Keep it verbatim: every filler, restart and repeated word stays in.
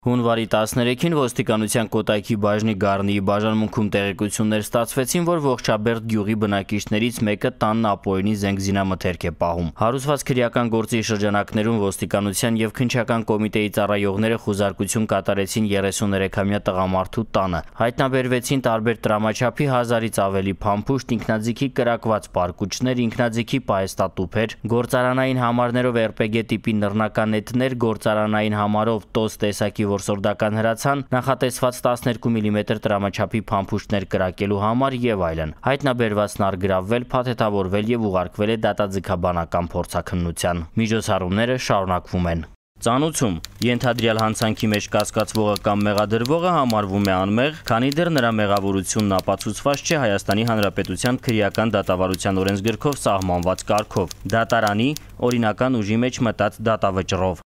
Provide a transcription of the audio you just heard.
Հունվարի տասներեքին ոստիկանության Կոտայքի բաժնի Գառնիի բաժանմունքում տեղեկություններ ստացվեցին, որ Ողջաբերդ գյուղի բնակիչներից մեկը տանն ապօրինի զենք զինամթերք է պահում։ Հարուցված քրեական գործի շրջանակներում ոստիկանության եւ քննչական կոմիտեի ծառայողները խուզարկություն կատարեցին երեսուներեքամյա տղամարդու տանը։ Հայտնաբերվեցին տարբեր տրամաչափի հազարից ավելի փամփուշտ, ինքնաձիգի կրակված պարկուճներ, ինքնաձիգի պահեստատուփեր, գործարանային համարներով եր պե գե տիպի նռնական նետներ, գործարանային համարով տոս տեսակի որսորդական հրացան, նախատեսված տասներկու միլիմետր տրամաչափի փամփուշտներ կրակելու համար եւ այլն։ Հայտնաբերվածն արգրավվել, փաթեթավորվել եւ ուղարկվել է դատաձգաբանական փորձաքննության։ Միջոցառումները շարունակվում են։ Ծանուցում ենթադրյալ հանցանքի մեջ կասկածվողը կամ մեղադրվողը համարվում է անմեղ, քանի դեռ նրա մեղավորությունն ապացուցված չէ Հայաստանի Հանրապետության քրեական դատավարության օրենսգրքով սահմանված կարգով, դատարանի օրինական ուժի մեջ մտած դատավճռով։